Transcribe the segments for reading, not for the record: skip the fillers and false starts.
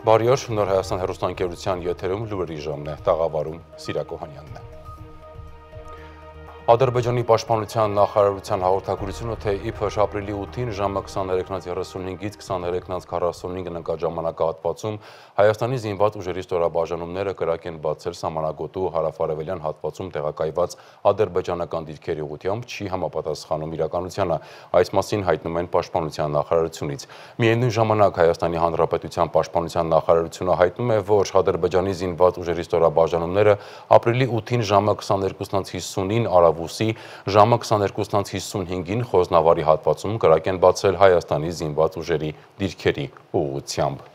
Բարի օր, Նոր Հայաստան հեռուստաընկերության եթերում լուրերի ժամն է, տաղավարում Սիրակ Օհանյանն է։ Ադրբեջանի պաշտպանության նախարարության հաղորդագրությունը, թե իբր ապրիլի 8-ին ժամը 23:35-ից 23:45 ընկաժամանակահատվածում Հայաստանի զինված ուժերի ստորաբաժանումները կրակ են բացել սահմանագոտու հարավարևելյան հատվածում տեղակայված ադրբեջանական դիրքերի ուղղությամբ չի համապատասխանում իրականությանը։ Այս մասին հայտնում են պաշտպանության նախարարությունից։ Միևնույն ժամանակ Հայաստանի Հանրապետության պաշտպանության նախարարությունը հայտնում է, որ Ադրբեջանի զինված ուժերի ստորաբաժանումները ապրիլի 8-ին ժամը 22:50-ին Արավուսի ժամը 22:55-ին Խոզնավարի հատվածում կրակ են բացել Հայաստանի զինված ուժերի դիրքերի ուղղությամբ։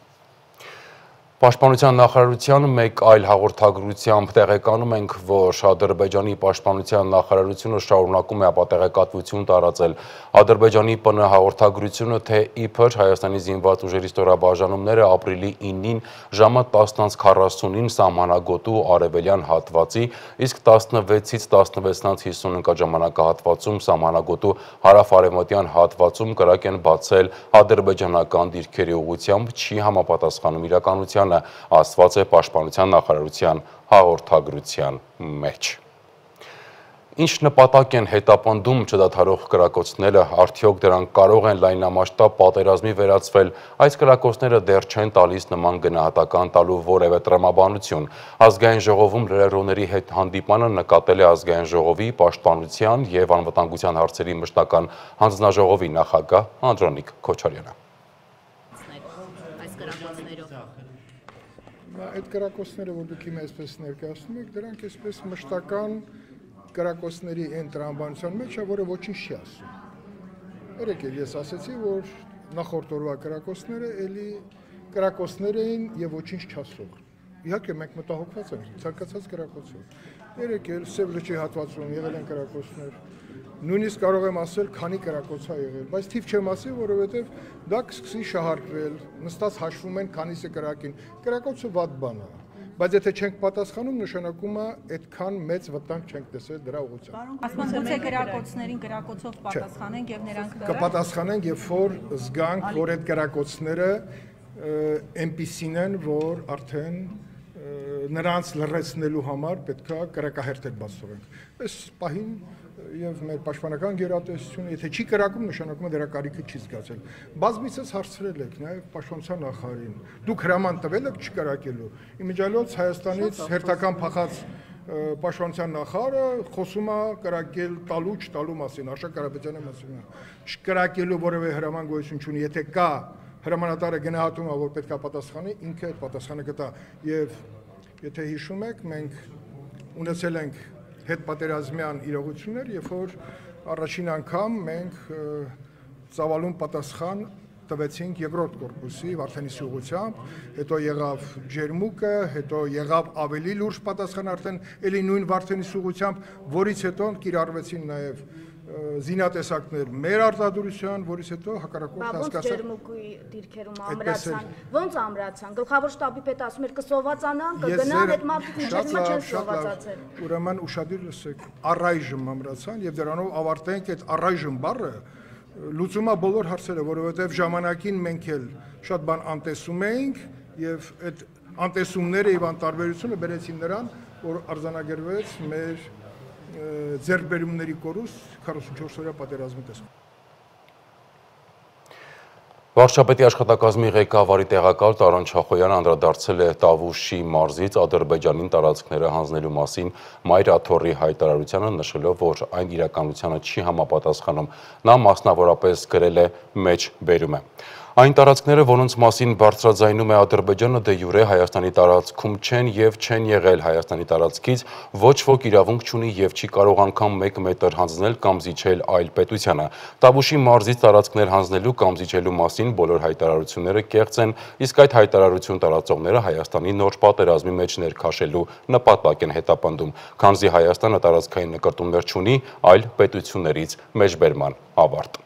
Պաշտպանության նախարարության մեկ այլ հաղորդագրությամբ տեղեկանում ենք, որ Ադրբեջանի պաշտպանության նախարարությունը շարունակում է ապատեղեկատվություն տարածել Ադրբեջանի ՊՆ հաղորդագրությունը, թե իբր Հայաստանի զինված ուժերի ստորաբաժանումները ապրիլի 9-ին ժամը 10:40-ին սահմանագոտու արևելյան հատվածի, իսկ 16-ից 16:50 ընկաժամանակահատվածում սահմանագոտու հարավ-արևմտյան հատվածում կրակ են բացել ադրբեջանական դիրքերի ուղղությամբ չի համապատասխանում իրականությանը, ասված է պաշտպանության նախարարության հաղորդագրության մեջ։ Ինչ նպատակ են հետապնդում չդադարող կրակոցները, արդյոք դրանք կարող են լայնամասշտաբ պատերազմի վերածվել, այս կրակոցները դեռ չեն տալիս նման գնահատական տալու որևէ տրամաբանություն։ Ազգային ժողովում լրագրողների հետ հանդիպանը նկատել է Ազգային ժողովի պաշտպանության և անվտանգության հարցերի մշտական հանձնաժողովի նախագահ Անդրանիկ Քոչարյանը։ Այդ կրակոցները, որ դուք իմ այսպես ներկայացնում եք, դրանք այսպես մշտական կրակոցների այն տրամաբանության մեջ է, որը ոչինչ չի ասում։ Երեք էլ ես ասացի, որ նախորդ օրվա կրակոցները էլի կրակոցներ էին եւ ոչինչ չասող։ Իհարկե մենք մտահոգված ենք ցանկացած կրակոցով։ Երեք էլ Սև լճի հատվածում եղել են կրակոցներ։ Նույնիսկ կարող եմ ասել, քանի կրակոց է եղել, բայց թիվ չեմ ասի, որովհետև դա կսկսի շահարկվել, նստած հաշվում են քանիսը կրակին։ Կրակոցը վատ բան է, բայց եթե չենք պատասխանում, նշանակում է այդքան մեծ վտանգ չենք տեսել դրա ուղղությամբ։ Ասում գուցե կրակոցներին կրակոցով պատասխանենք եւ նրանք կպատասխանենք, երբ որ զգանք, որ այդ կրակոցները այնպիսին են, որ արդեն նրանց լրացնելու համար պետք է կրակահերթեր բաց թողենք։ Այս պահին եւ մեր պաշտպանական գերատեսչությունը, եթե չի կրակում, նշանակում է դրա կարիքը չի զգացել։ Բազմիցս հարցրել եք նաեւ պաշտպանության նախարարին։ Դուք հրաման տվել եք չկրակելու։ Իմիջիալոց Հայաստանից հերթական փախած պաշտպանության նախարարը խոսում է կրակել տալու չտալու մասին, Արշակ Կարապետյանի մասին։ Չկրակելու որևէ հրաման գոյություն չունի, եթե կա հրամանատարը գնահատում է, որ պետք է պատասխանի, ինքը այդ պատասխանը կտա։ Եվ եթե հիշում եք, մենք ունեցել ենք հետպատերազմյան իրողություններ, երբ որ առաջին անգամ մենք ծավալուն պատասխան տվեցինք երկրորդ կորպուսի Վարդենիսի ուղղությամբ, հետո եղավ Ջերմուկը, հետո եղավ ավելի լուրջ պատասխան արդեն էլի նույն Վարդենիսի ուղղությամբ, որից հետո կիրառվեցին նաև զինատեսակներ մեր արտադրության, որից հետո հակառակորդը հասկացավ։ Ջերմուկի դիրքերում ամրացան, ոնց ամրացան։ Գլխավոր շտաբի պետ ասում էր կսովածանան, կգնան, այդ մարդիկ մինչև հիմա չեն սովածացել։ Ուրեմն ուշադիր լսեք, առայժմ ամրացան եւ դրանով ավարտենք այդ առայժմ բառը լուծում է բոլոր հարցերը, որովհետեւ ժամանակին մենք էլ շատ բան անտեսում էինք եւ այդ անտեսումները եւ անտարբերությունը բերեցին նրան, որ արձանագրվեց մեր ձեռքբերումների կորուստ 44-օրյա պատերազմի տեսքով։ Վարչապետի աշխատակազմի ղեկավարի տեղակալ Տարոն Չախոյանը անդրադարձել է Տավուշի մարզից Ադրբեջանին տարածքները հանձնելու մասին Մայր Աթոռի հայտարարությանը, նշելով, որ այն իրականությանը չի համապատասխանում։ Նա մասնավորապես գրել է մեջբերում է։ Այն տարածքները, որոնց մասին բարձրաձայնում է Ադրբեջանը, դե յուրե Հայաստանի տարածքում չեն եւ չեն եղել Հայաստանի տարածքից, ոչ ոք իրավունք չունի եւ չի կարող անգամ 1 մետր հանձնել կամ զիջել այլ պետությանը։ Տավուշի մարզից տարածքներ հանձնելու կամ զիջելու մասին բոլոր հայտարարությունները կեղծ են, իսկ այդ հայտարարություն տարածողները Հայաստանի նոր պատերազմի մեջ ներքաշելու նպատակ են հետապնդում, քանզի Հայաստանը տարածքային նկրտումներ չունի, այլ պետություններից մեջբերման ավարտ։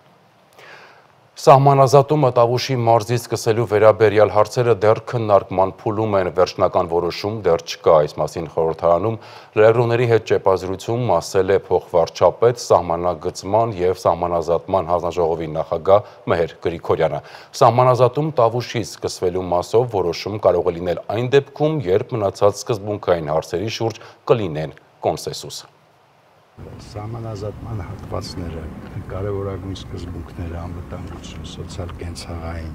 Սահմանազատումը Տավուշի մարզից սկսելու վերաբերյալ հարցերը դեռ քննարկման փուլում են, վերջնական որոշում դեռ չկա, այս մասին խորհրդարանում լրագրողների հետ ճեպազրույցում ասել է փոխվարչապետ, սահմանագծման և սահմանազատման հանձնաժողովի նախագահ Մեհեր Գրիգորյանը։ Սահմանազատում Տավուշից սկսվելու մասով որոշում կարող է լինել այն դեպքում, երբ մնացած սկզբունքային հարցերի շուրջ կլինեն կոնսենսուս։ Սահմանազատման հատվածները, կարևորագույն սկզբունքները, անվտանգություն, սոցիալ-կենցաղային,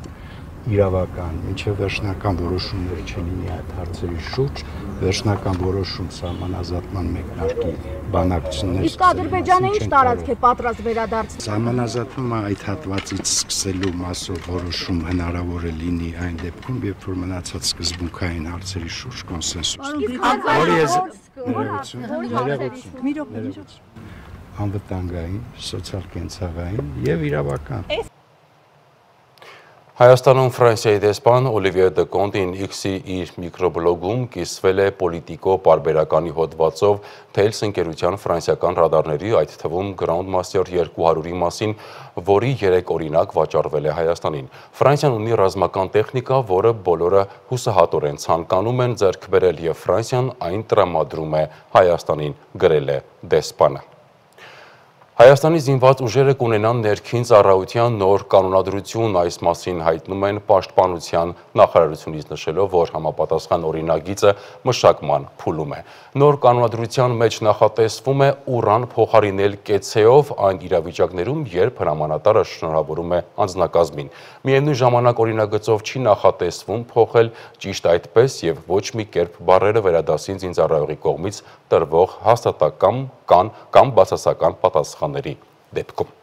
իրավական, մինչև վերջնական որոշումներ չլինի այդ հարցերի շուրջ, վերջնական որոշում սահմանազատման մեկնարկի բանակցություններ։ Իսկ Ադրբեջանը ինչ տարածք է պատրաստ վերադարձնել։ Սահմանազատումը այդ հատվածից սկսելու մասով որոշում հնարավոր է լինի այն դեպքում, երբ որ մնացած սկզբունքային հարցերի շուրջ կոնսենսուս։ Անվտանգային, սոցիալ-կենցաղային և իրավական։ Հայաստանում Ֆրանսիայի դեսպան Օլիվիե դե Կոնտին X-ի իր միկրոբլոգում կիսվել է պոլիտիկո պարբերականի հոդվածով Թելս ընկերության ֆրանսիական ռադարների, այդ թվում Groundmaster 200-ի մասին, որի 3 օրինակ վաճառվել է Հայաստանին։ Ֆրանսիան ունի ռազմական տեխնիկա, որը բոլորը հուսահատորեն ցանկանում են ձեռք բերել և Ֆրանսիան այն տրամադրում է Հայաստանին, գրել է դեսպանը։ Հայաստանի զինված ուժերը կունենան ներքին ծառայության նոր կանոնադրություն, այս մասին հայտնում են Պաշտպանության նախարարությունից, նշելով, որ համապատասխան օրինագիծը մշակման փուլում է։ Նոր կանոնադրության մեջ նախատեսվում է ուրան փոխարինել կեցեով այն իրավիճակներում, երբ հրամանատարը շնորհավորում է անձնակազմին։ Միևնույն ժամանակ օրինագծով չի նախատեսվում փոխել ճիշտ այդպես և ոչ մի կերպ բառերը վերադասին զինծառայողի կողմից տրվող հաստատակամ կամ բացասական պատասխանների դեպքում։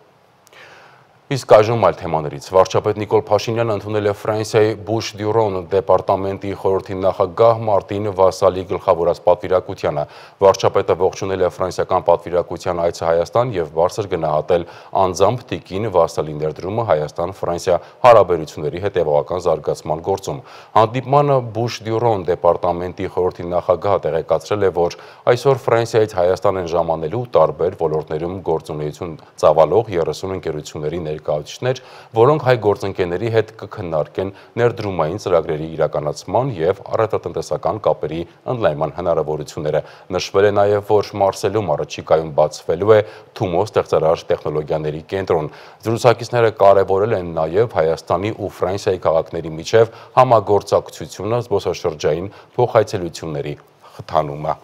Իսկ այժմ այլ թեմաներից։ Վարչապետ Նիկոլ Փաշինյանը ընդունել է Ֆրանսիայի Բուշ-Դյուրոն դեպարտամենտի խորհրդի նախագահ Մարտին Վասալի գլխավորած պատվիրակությանը։ Վարչապետը ողջունել է ֆրանսիական պատվիրակության այցը Հայաստան և բարձր գնահատել անձամբ տիկին Վասալի ներդրումը Հայաստան-Ֆրանսիա հարաբերությունների հետևողական զարգացման գործում։ Հանդիպմանը Բուշ-Դյուրոն դեպարտամենտի խորհրդի նախագահը տեղեկացրել է, որ այսօր Ֆրանսիայից Հայաստան են ժամանելու տարբեր ոլորտներում գործունեություն ծավալող 30 ընկերությունների ներկայացուցիչներ, որոնք հայ գործընկերների հետ կքննարկեն ներդրումային ծրագրերի իրականացման և առևտրատնտեսական կապերի ընդլայնման հնարավորությունները։ Նշվել է նաև, որ Մարսելում առաջիկայում բացվելու է Թումո ստեղծարար տեխնոլոգիաների կենտրոն։ Զրուցակիցները կարևորել են նաև Հայաստանի ու Ֆրանսիայի քաղաքների միջև համագործակցությունը, զբոսաշրջային փոխայցելությունների խթանումը։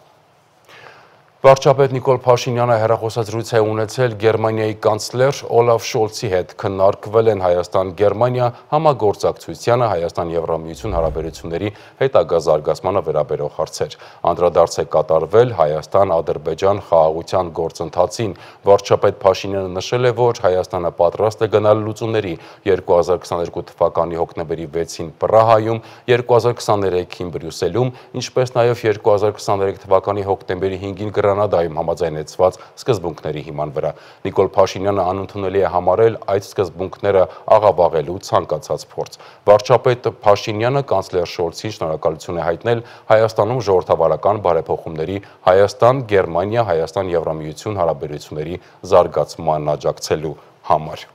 Վարչապետ Նիկոլ Փաշինյանը հեռախոսազրույց է ունեցել Գերմանիայի կանցլեր Օլաֆ Շոլցի հետ, քննարկվել են Հայաստան-Գերմանիա համագործակցությանը, Հայաստան-Եվրամիություն հարաբերությունների հետագա զարգացմանը վերաբերող հարցեր։ Անդրադարձ է կատարվել Հայաստան-Ադրբեջան խաղաղության գործընթացին։ Վարչապետ Փաշինյանը նշել է, որ Հայաստանը պատրաստ է գնալ լուծումների 2022 թվականի հոկտեմբերի 6-ին Պրահայում, 2023-ին Բրյուսելում, ինչպես նաև 2023 թվականի հոկտեմբերի 5-ին Գրանադայում համաձայնեցված սկզբունքների հիման վրա։ Նիկոլ Փաշինյանը անընդունելի է համարել այդ սկզբունքները աղավաղելու ցանկացած փորձ։ Վարչապետ Փաշինյանը կանցլեր Շոլցին շնորհակալություն է հայտնել Հայաստանում ժողովրդավարական բարեփոխումների Հայաստան-Գերմանիա, Հայաստան-Եվրամիություն հարաբերությունների զարգացման աջակցելու համար։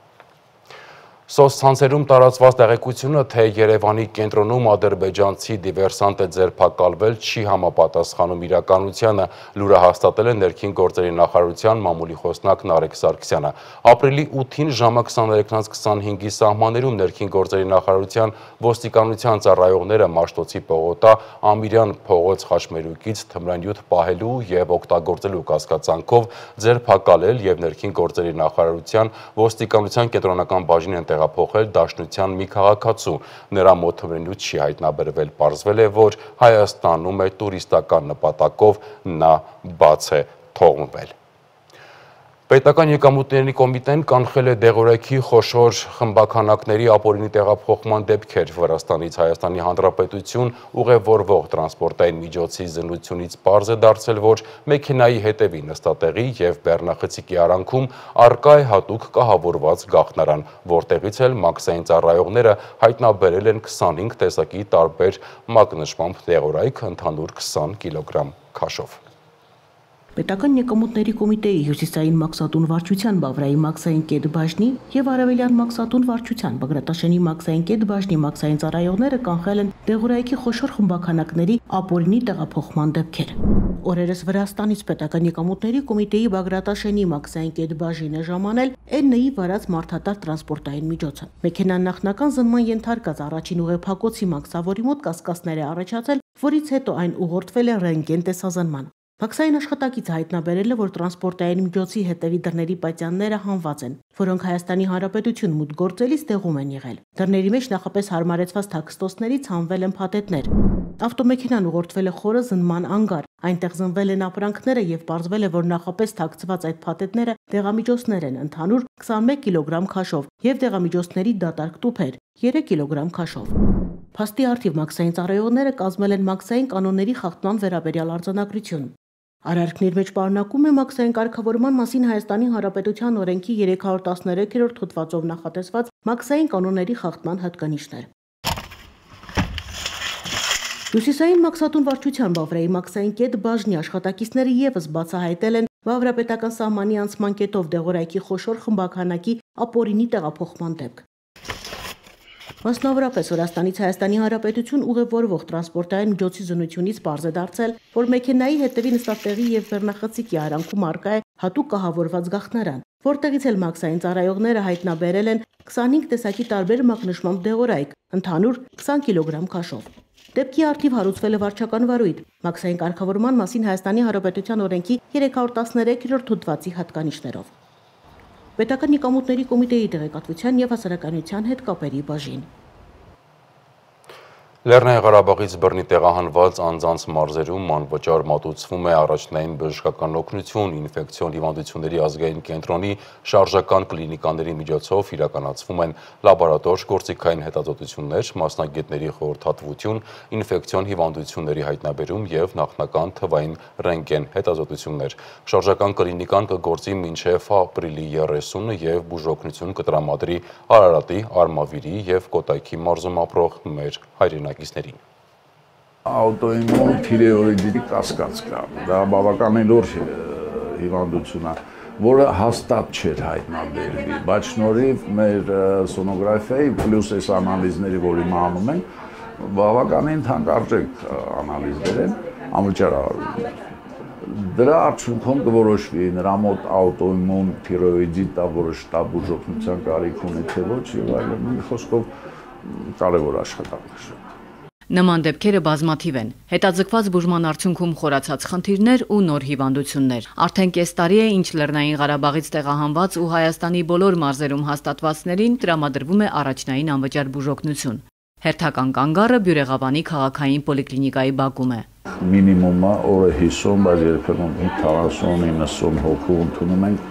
Սոցցանցերում տարածված տեղեկությունը, թե Երևանի կենտրոնում ադրբեջանցի դիվերսանտ է ձերբակալվել, չի համապատասխանում իրականությանը, լուրը հաստատել է ներքին գործերի նախարարության մամուլի խոսնակ Նարեկ Սարգսյանը։ Ապրիլի 8-ին ժամը 23:25-ի սահմաններում ներքին գործերի նախարարության ոստիկանության ծառայողները Մաշտոցի պողոտա Ամիրյան փողոց խաչմերուկից թմրանյութ պահելու և օգտագործելու կասկածանքով ձերբակալել և ներքին գործերի նախարարության ոստիկանության կենտրոնական բաժին են տեղափոխել Դաշնության մի քաղաքացու։ Նրա մոտ թմրանյութ չի հայտնաբերվել, պարզվել է, որ Հայաստանում է տուրիստական նպատակով նա բաց է թողնվել։ Պետական եկամուտների կոմիտեն կանխել է դեղորայքի խոշոր խմբաքանակների ապօրինի տեղափոխման դեպքեր Վրաստանից Հայաստանի Հանրապետություն ուղևորվող տրանսպորտային միջոցի զննությունից պարզ է դարձել, որ մեքենայի հետևի նստատեղի և բեռնախցիկի արանքում առկա է հատուկ կահավորված գաղտնարան, որտեղից էլ մաքսային ծառայողները հայտնաբերել են 25 տեսակի տարբեր մակնշմամբ դեղորայք ընդհանուր 20 կիլոգրամ քաշով։ Պետական եկամուտների կոմիտեի հյուսիսային մաքսատուն վարչության Բավրայի մաքսային կետ բաժնի եւ արևելյան մաքսատուն վարչության Բագրատաշենի մաքսային կետ բաժնի մաքսային ծառայողները կանխել են դեղորայքի խոշոր խմբաքանակների ապօրինի տեղափոխման դեպքեր։ Օրերս Վրաստանից պետական եկամուտների կոմիտեի Բագրատաշենի մաքսային կետ բաժինը ժամանել N-ի վարած մարդատար տրանսպորտային միջոցը։ Մեքենան նախնական զննման ենթարկած առաջին ուղեփակոցի մաքսավորի մոտ կասկածներ է առաջացել, որից հետո այն ուղղորդվել է ռենտգեն տեսազնման։ Մաքսային աշխատակիցը հայտնաբերել է, որ տրանսպորտային միջոցի հետևի դռների պատյանները հանված են, որոնք Հայաստանի Հանրապետություն մուտք գործելիս տեղում են եղել։ Դռների մեջ նախապես հարմարեցված թաքստոցներից հանվել են փաթեթներ։ Ավտոմեքենան ուղղորդվել է խորը զննման անգար, այնտեղ զնվել են ապրանքները եւ պարզվել է, որ նախապես թաքցված այդ փաթեթները դեղամիջոցներ են, ընդհանուր 21 կիլոգրամ քաշով եւ դեղամիջոցների դատարկ տուփեր 3 կիլոգրամ քաշով։ Փաստի առթիվ մաքսային ծառայողները կազմել են մաքսային կանոնների խախտման վերաբերյալ արձանագրություն։ Արարքների մեջ պարունակում է մաքսային կարգավորման մասին Հայաստանի Հանրապետության օրենքի 313-րդ հոդվածով նախատեսված մաքսային կանոնների խախտման հատկանիշներ։ Հյուսիսային մաքսատուն վարչության Բավրայի մաքսային կետ բաժնի աշխատակիցները եւս բացահայտել են Բավրապետական սահմանի անցման կետով դեղորայքի խոշոր խմբաքանակի ապօրինի տեղափոխման դեպք։ Մասնավորապես Վրաստանից Հայաստանի Հանրապետություն ուղևորվող տրանսպորտային միջոցի զննությունից պարզ է դարձել, որ մեքենայի հետևի նստատեղի եւ բեռնախցիկի արանքում առկա է հատուկ կահավորված գաղտնարան, որտեղից էլ մաքսային ծառայողները հայտնաբերել են 25 տեսակի տարբեր մակնշմամբ դեղորայք, ընդհանուր 20 կիլոգրամ քաշով։ Դեպքի առթիվ հարուցվել է վարչական վարույթ, մաքսային կարգավորման մասին Հայաստանի Հանրապետության օրենքի 313-րդ հոդվածի հատկանիշներով։ Պետական եկամուտների կոմիտեի տեղեկատվության եւ հասարակայնության հետ կապերի բաժին։ Լեռնային Ղարաբաղից բռնի տեղահանված անձանց մարզերում անվճար մատուցվում է առաջնային բժշկական օգնություն, ինֆեկցիոն հիվանդությունների ազգային կենտրոնի շարժական կլինիկաների միջոցով իրականացվում են լաբորատոր գործիքային հետազոտություններ, մասնագետների խորհրդատվություն, ինֆեկցիոն հիվանդությունների հայտնաբերում եւ նախնական թվային ռենտգեն հետազոտություններ։ Շարժական կլինիկան կգործի մինչեւ ապրիլի 30-ը եւ բուժօգնություն կտրամադրի Արարատի, Արմավիրի եւ Կոտայքի մարզում ապրող մեր հայրենակիցներին։ Աուտոիմուն թիրեոիդիտի կասկած կա, դա բավականին լուրջ հիվանդություն է, որը հաստատ չէր հայտնաբերվի, բայց շնորհիվ մեր սոնոգրաֆիայի պլյուս այս անալիզների, որ հիմա անում են, բավականին թանկարժեք անալիզներ են, անվճար դրա արդյունքում կորոշվի նրա մոտ աուտոիմուն թիրեոիդիտ է, որը շտապ բուժօգնության կարիք ունի, թե ոչ, եւ այլն, մի խոսքով կարևոր աշխատանք է։ Նման դեպքերը բազմաթիվ են։ Հետաձգված բուժման արդյունքում խորացած խնդիրներ ու նոր հիվանդություններ։ Արդեն կես տարի է, ինչ Լեռնային Ղարաբաղից տեղահանված ու Հայաստանի բոլոր մարզերում հաստատվածներին տրամադրվում է առաջնային անվճար բուժօգնություն։ Հերթական կանգառը Բյուրեղավանի քաղաքային պոլիկլինիկայի բակում է։ Մինիմումը օրը 50, բայց երբեմն 40-90 հոգու ընդունում ենք,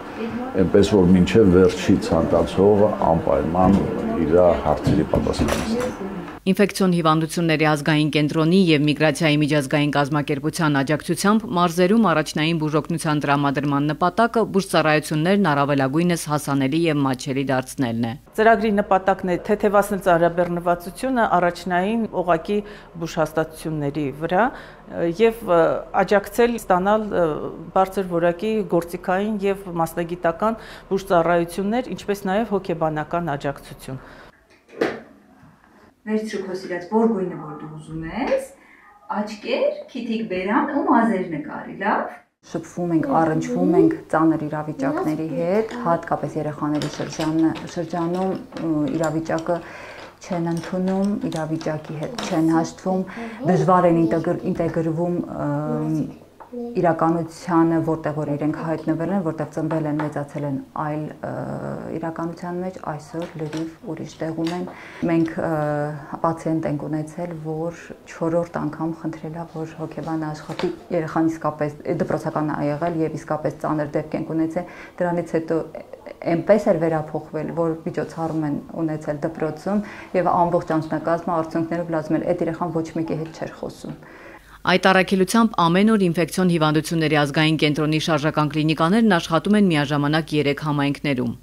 այնպես որ մինչև վերջի ցանկացողը անպայման իր հարցերի պատասխանեցնի։ Ինֆեկցիոն հիվանդությունների ազգային կենտրոնի եւ միգրացիայի միջազգային կազմակերպության աջակցությամբ մարզերում առաջնային բուժօգնության տրամադրման նպատակը բուժծառայություններն առավելագույնս հասանելի եւ մատչելի դարձնելն է։ Ծրագրի նպատակն է թեթևացնել ծառայաբեռնվածությունը առաջնային օղակի բուժհաստատությունների վրա եւ աջակցել ստանալ բարձր որակի գործիքային եւ մասնագիտական բուժծառայություններ, ինչպես նաեւ հոգեբանական աջակցություն։ Վերցրու քո սիրած որ գույնը որ դու ուզում ես, աչքեր, քիթիկ բերան ու մազեր նկարի, լավ։ Շփվում ենք, առնչվում ենք ծանր իրավիճակների հետ, հատկապես երեխաների շրջանում իրավիճակը չեն ընդունում, իրավիճակի հետ չեն հաշտվում, դժվար են ինտեգրվում իրականությանը, որտեղ որ իրենք հայտնվել են, որտեղ ծնվել են, մեծացել են այլ իրականության մեջ, այսօր լրիվ ուրիշ տեղում են։ Մենք պացիենտ ենք ունեցել, որ 4-րդ անգամ խնդրել է, որ հոգեբանը աշխատի, երեխան իսկապես դպրոցական է եղել եւ իսկապես ծանր դեպք ենք ունեցել, դրանից հետո այնպես էր վերափոխվել, որ միջոցառում են ունեցել դպրոցում եւ ամբողջ անձնակազմը արդյունքներով լազում էր, այդ երեխան ոչ մեկի հետ չէր խոսում։ Այդ առաքելությամբ ամեն օր ինֆեկցիոն հիվանդությունների ազգային կենտրոնի շարժական կլինիկաներն աշխատում են միաժամանակ 3 համայնքներում։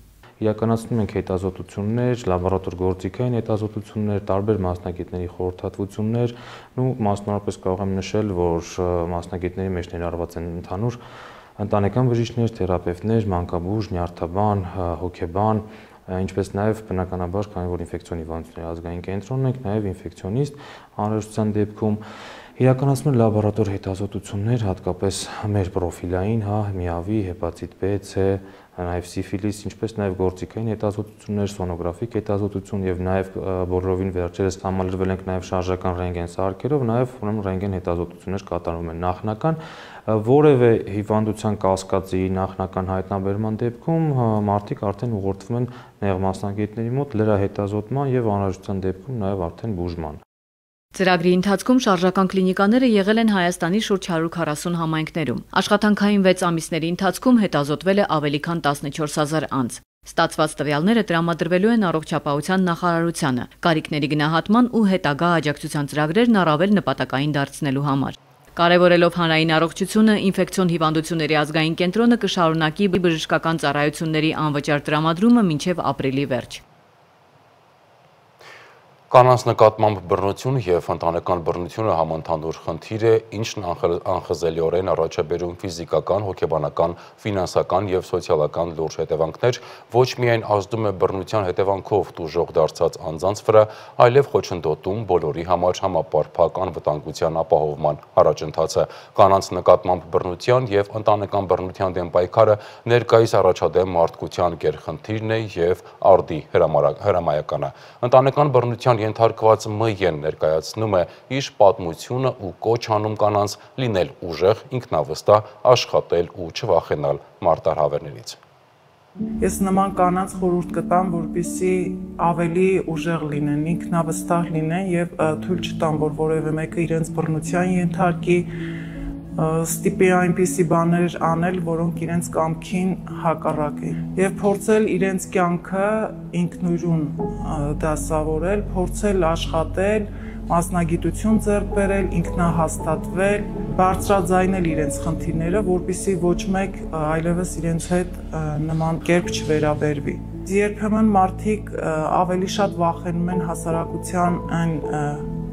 Իրականացնում ենք հետազոտություններ, լաբորատոր գործիքային հետազոտություններ, տարբեր մասնագետների խորհրդատվություններ, ու մասնավորապես կարող եմ նշել, որ մասնագետների մեջ ներառված են ընդհանուր ընտանեկան բժիշկներ, թերապևտներ, մանկաբույժ, նյարդաբան, հոգեբան, ինչպես նաև բնականաբար, քանի որ ինֆեկցիոն հիվանդությունների ազգային կենտրոնն ենք, նաև ինֆեկցիոնիստ անհրաժեշտության դեպքում իրականացնում են լաբորատոր հետազոտություններ, հատկապես մեր պրոֆիլային, միավի, հեպատիտ B, C, նաև սիֆիլիս, ինչպես նաև գործիքային հետազոտություններ, սոնոգրաֆիկ հետազոտություն եւ նաև բոլորովին վերջերս համալրվել ենք նաև շարժական ռենտգեն սարքերով, նաև ուրեմն ռենտգեն հետազոտություններ կատարում են նախնական որևէ հիվանդության կասկածի նախնական հայտնաբերման դեպքում մարդիկ արդեն ուղղորդվում են նեղ մասնագետների մոտ լրահետազոտման եւ անհրաժեշտության դեպքում նաև արդեն բուժման։ Ծրագրի ընթացքում շարժական կլինիկաները եղել են Հայաստանի շուրջ 140 համայնքներում։ Աշխատանքային 6 ամիսների ընթացքում հետազոտվել է ավելի քան 14000 անձ։ Ստացված տվյալները տրամադրվելու են առողջապահության նախարարությանը, կարիքների գնահատման ու հետագա աջակցության ծրագրերն առավել նպատակային դարձնելու համար։ Կարևորելով հանրային առողջությունը, ինֆեկցիոն հիվանդությունների ազգային կենտրոնը կշարունակի բժշկական ծառայությունների անվճար տրամադրումը մինչև ապրիլի վերջ։ Կանանց նկատմամբ բռնություն եւ ընտանեկան բռնությունը համընդհանուր խնդիր է, ինչն անխզելիորեն առաջ է բերում ֆիզիկական, հոգեբանական, ֆինանսական եւ սոցիալական լուրջ հետևանքներ, ոչ միայն ազդում է բռնության հետևանքով տուժող դարձած անձանց վրա, այլև խոչընդոտում բոլորի համար համապարփակ անվտանգության ապահովման առաջընթացը։ Կանանց նկատմամբ բռնության եւ ընտանեկան բռնության դեմ պայքարը ներկայիս առաջադեմ մարդկության գերխնդիրն է եւ արդի հրամայականը։ Ընտանեկան բռնության ենթարկված ՄԵ-ն ներկայացնում է իր պատմությունը ու կոչ անում կանանց լինել ուժեղ, ինքնավստահ, աշխատել ու չվախենալ մարտահրավերներից։ Ես նման կանանց խորհուրդ կտամ, որպեսզի ավելի ուժեղ լինեն, ինքնավստահ լինեն եւ թույլ չտան, որ որևէ մեկը իրենց բռնության ենթարկի, ստիպի այնպիսի բաներ անել, որոնք իրենց կամքին հակառակ են, եւ փորձել իրենց կյանքը ինքնուրույն դասավորել, փորձել աշխատել, մասնագիտություն ձեռք բերել, ինքնահաստատվել, բարձրաձայնել իրենց խնդիրները, որպեսզի ոչ մեկ այլևս իրենց հետ նման կերպ չվերաբերվի։ Երբեմն մարդիկ ավելի շատ վախենում են հասարակության այն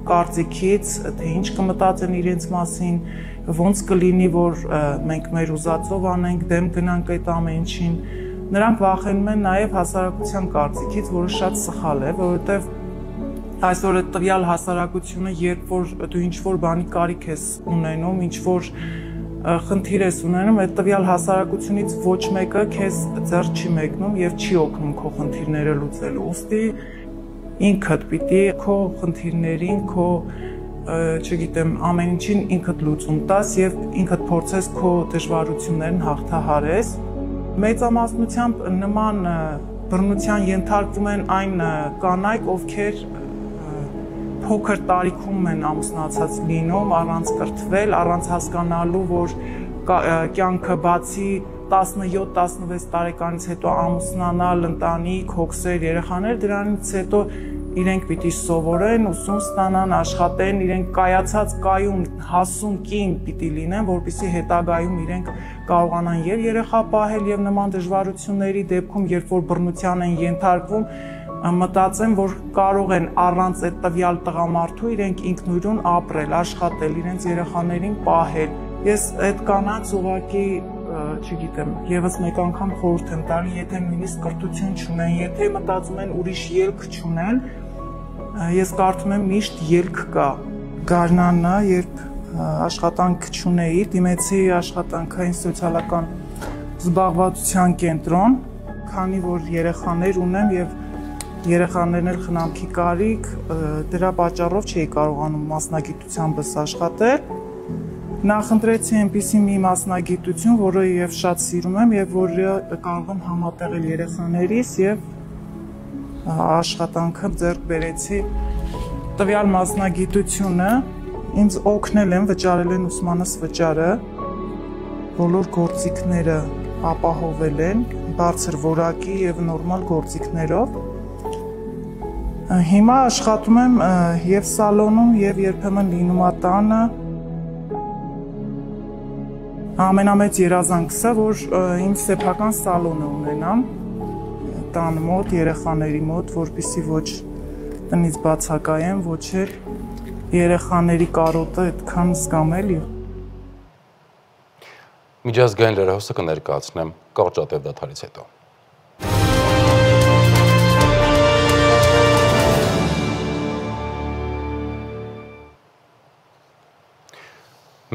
կարծիքից, թե ինչ կմտածեն իրենց մասին, ոնց կլինի, որ մենք մեր ուզածով անենք, դեմ գնանք այդ ամեն ինչին։ Նրանք վախենում են նաև հասարակության կարծիքից, որը շատ սխալ է, որովհետև այսօր այդ տվյալ հասարակությունը, երբ որ դու ինչ-որ բանի կարիք ես ունենում, ինչ-որ խնդիր ես ունենում, այդ տվյալ հասարակությունից ոչ մեկը քեզ ձեռ չի մեկնում եւ չի օգնում քո խնդիրները լուծելու։ Ուստի ինքդ պիտի քո խնդիրներին, քո չգիտեմ, ամեն ինչին ինքդ լուծում տաս եւ ինքդ փորձես քո դժվարություններն հաղթահարես։ Մեծամասնությամբ նման բռնության ենթարկվում են այն կանայք, ովքեր փոքր տարիքում են ամուսնացած լինում, առանց կրթվել, առանց հասկանալու, որ կյանքը բացի 17-16 տարեկանից հետո ամուսնանալ, ընտանիք, հոգսեր, երեխաներ, դրանից հետո իրենք պիտի սովորեն, ուսում ստանան, աշխատեն, իրենք կայացած կայուն, հասուն կին պիտի լինեն, որպեսզի հետագայում իրենք կարողանան եւ երեխա պահել եւ նման դժվարությունների դեպքում, երբ որ բռնության են ենթարկվում, մտածեմ, որ կարող են առանց այդ տվյալ տղամարդու իրենք ինքնուրույն ապրել, աշխատել, իրենց երեխաներին պահել։ Ես այդ կանանց ուղղակի չգիտեմ, եւս մեկ անգամ խորհուրդ եմ տալի, եթե նույնիսկ կրթություն չունեն, եթե մտածում են ուրիշ ելք չունեն, ես կարծում եմ միշտ ելք կա։ Գարնանը, երբ աշխատանք չունեի, դիմեցի աշխատանքային սոցիալական զբաղվածության կենտրոն, քանի որ երեխաներ ունեմ եւ երեխաներն էլ խնամքի կարիք, դրա պատճառով չէի կարողանում մասնագիտությանս աշխատել։ Նախընտրեցի այնպիսի մի մասնագիտություն, որը եւ շատ սիրում եմ եւ որը կարող եմ համատեղել երեխաներիս եւ աշխատանքը ձեռք բերեցի։ Տվյալ մասնագիտությունը ինձ օգնել են, վճարել են ուսմանս վճարը, բոլոր գործիքները ապահովել են, բարձր որակի եւ նորմալ գործիքներով։ Հիմա աշխատում եմ եւ սալոնում եւ երբեմն լինումատանը։ Ամենամեծ երազանքս է, որ իմ սեփական սալոնը ունենամ տան մոտ, երեխաների մոտ, որպեսզի ոչ տնից բացակայեմ, ոչ էլ երեխաների կարոտը այդքան զգամ էլի։ Միջազգային լրահոսը կներկայացնեմ կարճատև դադարից հետո։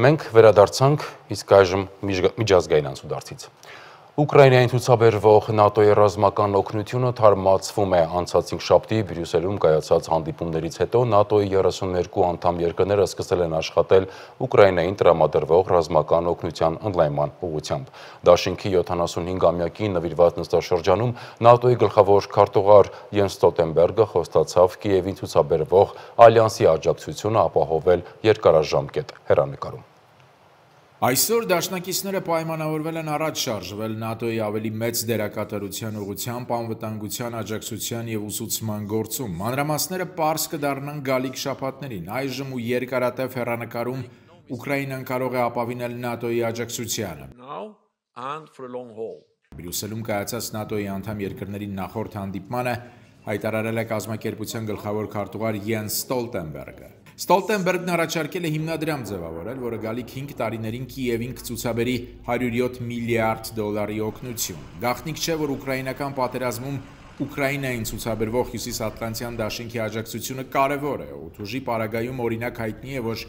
Մենք վերադարձանք, իսկ այժմ միջազգային անցուդարձից։ Ուկրաինային ցուցաբերվող ՆԱՏՕ-ի ռազմական օգնությունը թարմացվում է անցած 5 շաբթի Բրյուսելում կայացած հանդիպումներից հետո ՆԱՏՕ-ի 32 անդամ երկրները սկսել են աշխատել Ուկրաինային տրամադրվող ռազմական օգնության ընդլայնման ուղղությամբ։ Դաշինքի 75-ամյակի նվիրված նստաշրջանում ՆԱՏՕ-ի գլխավոր քարտուղար Յենս Ստոլտենբերգը խոստացավ Կիևին ցուցաբերվող ալյանսի աջակցությունը ապահովել երկարաժամկետ հեռանկարում։ Այսօր դաշնակիցները պայմանավորվել են առաջ շարժվել ՆԱՏՕ-ի ավելի մեծ դերակատարության ուղղությամբ անվտանգության աջակցության եւ ուսուցման գործում։ Մանրամասները պարզ կդառնան գալիք շաբաթներին։ Այժմ ու երկարատև հեռանկարում Ուկրաինան կարող է ապավինել ՆԱՏՕ-ի աջակցությանը։ Բրյուսելում կայացած ՆԱՏՕ-ի անդամ երկրների նախորդ հանդիպմանը հայտարարել է կազմակերպության գլխավոր քարտուղար Յենս Ստոլտենբերգը։ Ստոլտենբերգն առաջարկել է հիմնադրամ ձևավորել, որը գալիք 5 տարիներին Կիևին կցուցաբերի $107 միլիարդ օգնություն։ Գաղտնիք չէ, որ ուկրաինական պատերազմում Ուկրաինային ցուցաբերվող Հյուսիսատլանտյան դաշինքի աջակցությունը կարևոր է։ Օդուժի պարագայում օրինակ հայտնի է, որ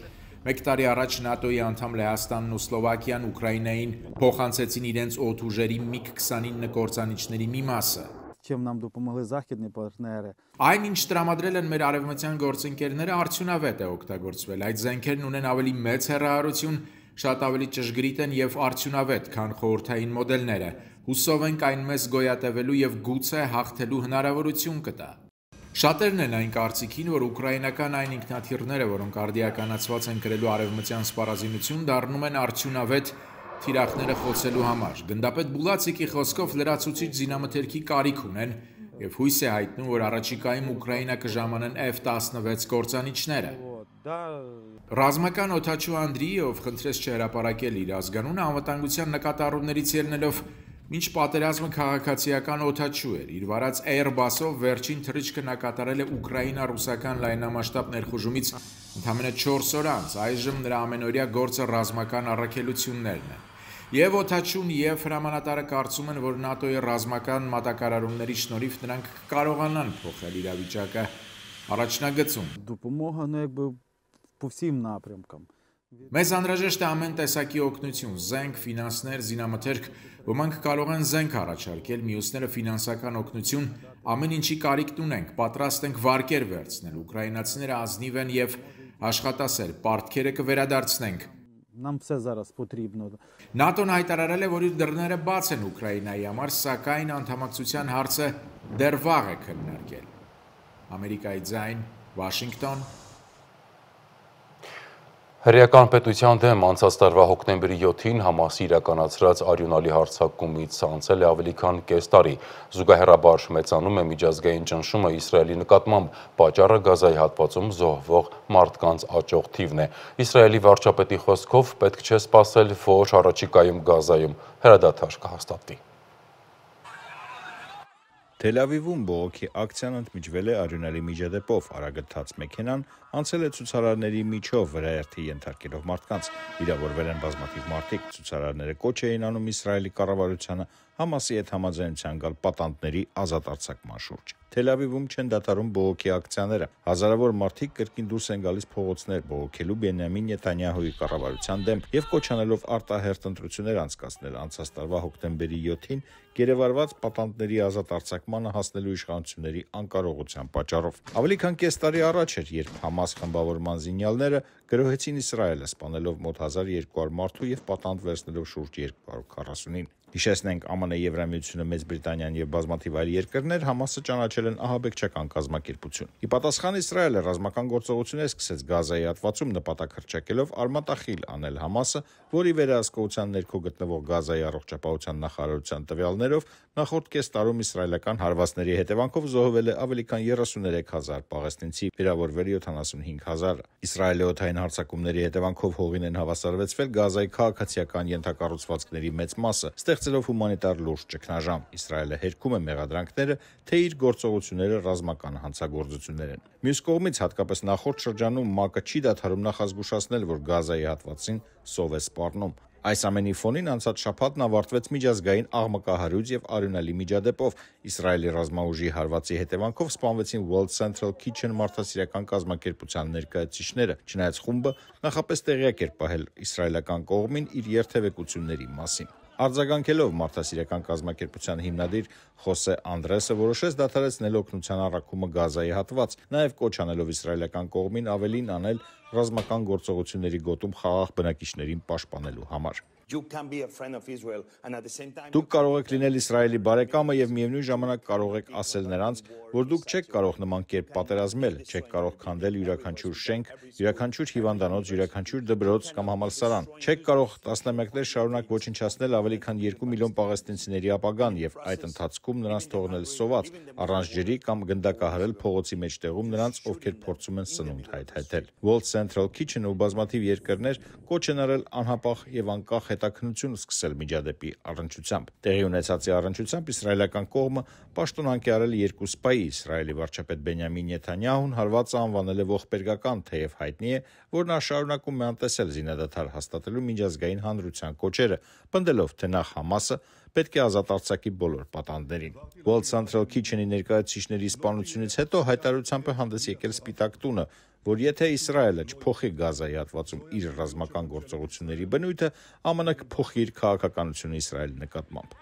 1 տարի առաջ ՆԱՏՕ-ի անդամ Լեհաստանն ու Սլովակիան Ուկրաինային փոխանցեցին իրենց օդուժերի MiG-29 կործանիչների մի մասը։ Այն, ինչ տրամադրել են մեր արևմտյան գործընկերները, արդյունավետ է օգտագործվել։ Այդ զենքերն ունեն ավելի մեծ հեռահարություն, շատ ավելի ճշգրիտ են եւ արդյունավետ, քան խորհրդային մոդելները։ Հուսով ենք այն մեզ գոյատևելու եւ գուցե հաղթելու հնարավորություն կտա։ Շատերն են այն կարծիքին, որ ուկրաինական այն ինքնաթիռները, որոնք արդիականացված են կրելու արևմտյան սպառազինություն, դառնում են արդյունավետ թիրախները խոցելու համար։ Գնդապետ Բուլացիկի խոսքով լրացուցիչ զինամթերքի կարիք ունեն եւ հույս է հայտնում, որ առաջիկայում Ուկրաինա կժամանեն F-16 կործանիչները։ Ռազմական օդաչու Անդրիեով խնդրեց չհրապարակել իր ազգանունը անվտանգության նկատառումներից ելնելով, մինչ պատերազմը քաղաքացիական օդաչու էր։ Իր վարած Airbus-ով վերջին թռիչքը նա կատարել է ուկրաինա-ռուսական լայնամասշտաբ ներխուժումից ընդամենը 4 օր անց։ Այժմ նրա ամենօրյա գործը ռազմական առաքելություններն են։ Եվ օդաչուն, եւ հրամանատարը կարծում են, որ ՆԱՏՕ-ի ռազմական մատակարարումների շնորհիվ նրանք կարողանան փոխել իրավիճակը առաջնագծում։ Մեզ անհրաժեշտ է ամեն տեսակի օգնություն, զենք, ֆինանսներ, զինամթերք, ոմանք կարող են զենք առաջարկել, մյուսները ֆինանսական օգնություն, ամեն ինչի կարիքն ունենք, պատրաստ ենք վարկեր վերցնել, ուկրաինացիները ազնիվ են եւ աշխատասեր, պարտքերը կվերադարձնենք։ ՆԱՏՕ-ն հայտարարել է, որ իր դռները բաց են Ուկրաինայի համար, սակայն անդամակցության հարցը դեռ վաղ է քննարկել։ Ամերիկայի ձայն, Վաշինգտոն։ Հրեական պետության դեմ անցած տարվա հոկտեմբերի 7-ին Համասի իրականացրած արյունալի հարձակումից անցել է ավելի քան կես տարի։ Զուգահեռաբար մեծանում է միջազգային ճնշումը Իսրայելի նկատմամբ, պատճառը Գազայի հատվածում զոհվող մարդկանց աճող թիվն է։ Իսրայելի վարչապետի խոսքով պետք չէ սպասել, որ առաջիկայում Գազայում հրադադար կհաստատվի։ Թել Ավիվում բողոքի ակցիան ընդմիջվել է արյունալի միջադեպով, արագընթաց մեքենան անցել է ցուցարարների միջով վրայերթի ենթարկելով մարդկանց, վիրավորվել են բազմաթիվ մարդիկ, ցուցարարները կոչ էին անում Իսրայելի կառավարությանը Համասի հետ համաձայնության գալ պատանդների ազատ արձակման շուրջ։ Թել Ավիվում չեն դադարում բողոքի ակցիաները, հազարավոր մարդիկ կրկին դուրս են գալիս փողոցներ բողոքելու Բենյամին Նեթանյահուի կառավարության դեմ եւ կոչ անելով արտահերթ ընտրություններ անցկացնել անցած տարվա հոկտեմբերի 7-ին գերեվարված պատանդների ազատ արձակմանը հասնելու իշխանությունների անկարողության պատճառով։ Ավելի քան կես տարի առաջ էր, երբ Համաս խմբավորման զինյալները գրոհեցին Իսրայելը, սպանելով մոտ 1200 մարդու եւ պատանդ վերցնելով շուրջ 240-ին։ Հիշեցնենք, ԱՄՆ, Եվրամիությունը, Մեծ Բրիտանիան եւ բազմաթիվ այլ երկրներ Համասը ճանաչել են ահաբեկչական կազմակերպություն։ Ի պատասխան Իսրայելը ռազմական գործողություններ սկսեց Գազայի հատվածում նպատակ հռչակելով արմատախիլ անել Համասը, որի վերահսկողության ներքո գտնվող Գազայի առողջապահության նախարարության տվյալներով նախորդ կես տարում իսրայելական հարվածների հետևանքով զոհվել է ավելի քան 33000 պաղեստինցի, վիրավորվել 75000։ Իսրայելի օդային հարձակումների հետևանքով հողին են հավասարվեցվել Գազայի քաղաքացիական ենթակառուցվածքների մեծ մասը, ստեղծելով հումանիտար լուրջ ճգնաժամ։ Իսրայելը հերքում է մեղադրանքները, թե իր գործողությունները ռազմական հանցագործություններ են։ Մյուս կողմից, հատկապես նախորդ շրջանում ՄԱԿ-ը չի դադարում նախազգուշացնել, որ Գազայի հատվածին սով է սպառնում։ Այս ամենի ֆոնին անցած շաբաթն ավարտվեց միջազգային աղմկահարույց եւ արյունալի միջադեպով։ Իսրայելի ռազմաուժի հարվածի հետևանքով սպանվեցին World Central Kitchen մարդասիրական կազմակերպության ներկայացուցիչները, չնայած խումբը նախապես տեղյակ էր պահել իսրայելական կողմին իր երթևեկությունների մասին։ Արձագանքելով մարդասիրական կազմակերպության հիմնադիր Խոսե Անդրեսը որոշեց դադարեցնել օգնության առաքումը Գազայի հատված, նաև կոչ անելով իսրայելական կողմին ավելին անել ռազմական գործողությունների գոտում խաղաղ բնակիչներին պաշտպանելու համար։ Դուք կարող եք լինել Իսրայելի բարեկամը եւ միևնույն ժամանակ կարող եք ասել նրանց, որ դուք չեք կարող նման կերպ պատերազմել, չեք կարող քանդել յուրաքանչյուր շենք, յուրաքանչյուր հիվանդանոց, յուրաքանչյուր դպրոց կամ համալսարան, չեք կարող տասնամյակներ շարունակ ոչնչացնել ավելի քան 2 միլիոն պաղեստինցիների ապագան եւ այդ ընթացքում նրանց թողնել սոված, առանց ջրի կամ գնդակահարել փողոցի մեջտեղում նրանց, ովքեր փորձում են սնունդ հայթայթել։ World Central Kitchen-ը ու բազմաթիվ երկրներ կոչ են արել անհապաղ եւ անկախ հետաքննություն սկսել միջադեպի առնչությամբ։ Տեղի ունեցածի առնչությամբ իսրայելական կողմը պաշտոնանկ է արել 2 սպայի։ Իսրայելի վարչապետ Բենյամին Նեթանյահուն հարվածը անվանել է ողբերգական, թեև հայտնի է, որ նա շարունակում է անտեսել զինադադար հաստատելու միջազգային հանրության կոչերը, պնդելով, թե նախ Համասը պետք է ազատ արձակի բոլոր պատանդներին։ World Central Kitchen-ի ներկայացուցիչների սպանությունից հետո հայտարարությամբ է հանդես եկել Սպիտակ տունը, որ եթե Իսրայելը չփոխի Գազայի հատվածում իր ռազմական գործողությունների բնույթը, ԱՄՆ կփոխի իր քաղաքականությունը Իսրայելի նկատմամբ։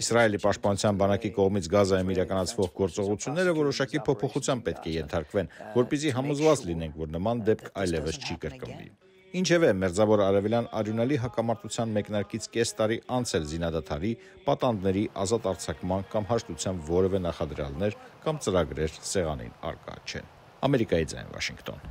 Իսրայելի պաշտպանության բանակի կողմից Գազայում իրականացվող գործողությունները որոշակի փոփոխության պետք է ենթարկվեն, որպեսզի համոզված լինենք, որ նման դեպք այլևս չի կրկնվի։ Ինչևէ, Մերձավոր Արևելյան արյունալի հակամարտության մեկնարկից կես տարի անց էլ զինադադարի, պատանդների ազատ արձակման կամ հաշտության որևէ նախադրյալներ կամ ծրագրեր սեղանին առկա չեն։ Ամերիկայի ձայն, Վաշինգտոն։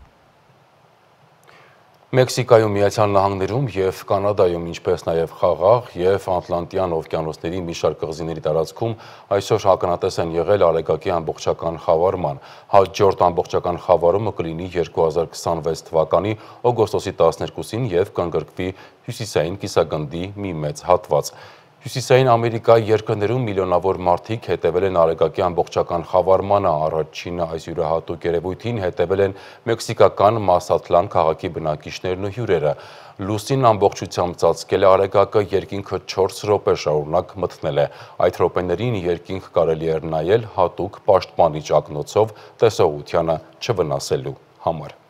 Մեքսիկայում, Միացյալ Նահանգներում եւ Կանադայում, ինչպես նաեւ Խաղաղ եւ Ատլանտյան օվկիանոսների մի շարք կղզիների տարածքում այսօր ականատես են եղել արեգակի ամբողջական խավարման։ Հաջորդ ամբողջական խավարումը կլինի 2026 թվականի օգոստոսի 12-ին եւ կընդգրկվի հյուսիսային կիսագնդի մի մեծ հատված։ Հյուսիսային Ամերիկայի երկրներում միլիոնավոր մարդիկ հետևել են արեգակի ամբողջական խավարմանը, առաջինը այս յուրահատուկ երևույթին հետևել են մեքսիկական Մասատլան քաղաքի բնակիչներն ու հյուրերը։ Լուսին ամբողջությամբ ծածկել է արեգակը, երկինքը 4 րոպե շարունակ մթնել է։ Այդ րոպեներին երկինք կարելի էր նայել հատուկ պաշտպանիչ ակնոցով տեսողությանը չվնասելու համար։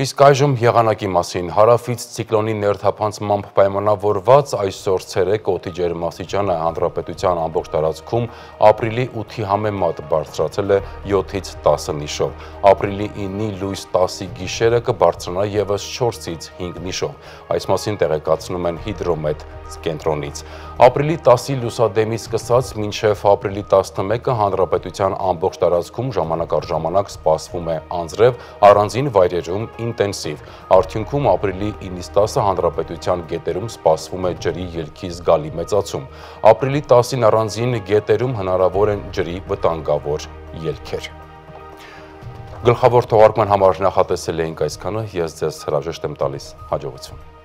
Իսկ այժմ եղանակի մասին հարավից ցիկլոնի ներթափանցմամբ պայմանավորված այսօր ցերեկ օդի ջերմաստիճանը հանրապետության ամբողջ տարածքում ապրիլի 8-ի համեմատ բարձրացել է 7-ից 10 նիշով։ Ապրիլի 9-ի լույս 10-ի գիշերը կբարձրանա ևս 4-ից 5 նիշով։ Այս մասին տեղեկացնում են հիդրոմետ կենտրոնից։ Ապրիլի 10-ի լուսադեմից սկսած մինչև ապրիլի 11-ը հանրապետության ամբողջ տարածքում ժամանակ առ ժամանակ սպասվում է անձրև, առանձին վայրերում ինտենսիվ։ Արդյունքում ապրիլի 9-ից 10-ը հանրապետության գետերում սպասվում է ջրի ելքի զգալի մեծացում։ Ապրիլի 10-ին առանձին գետերում հնարավոր են ջրի վտանգավոր ելքեր։ Գլխավոր թողարկման համար նախատեսել էինք այսքանը, ես ձեզ հրաժեշտ եմ տալիս, հաջողություն։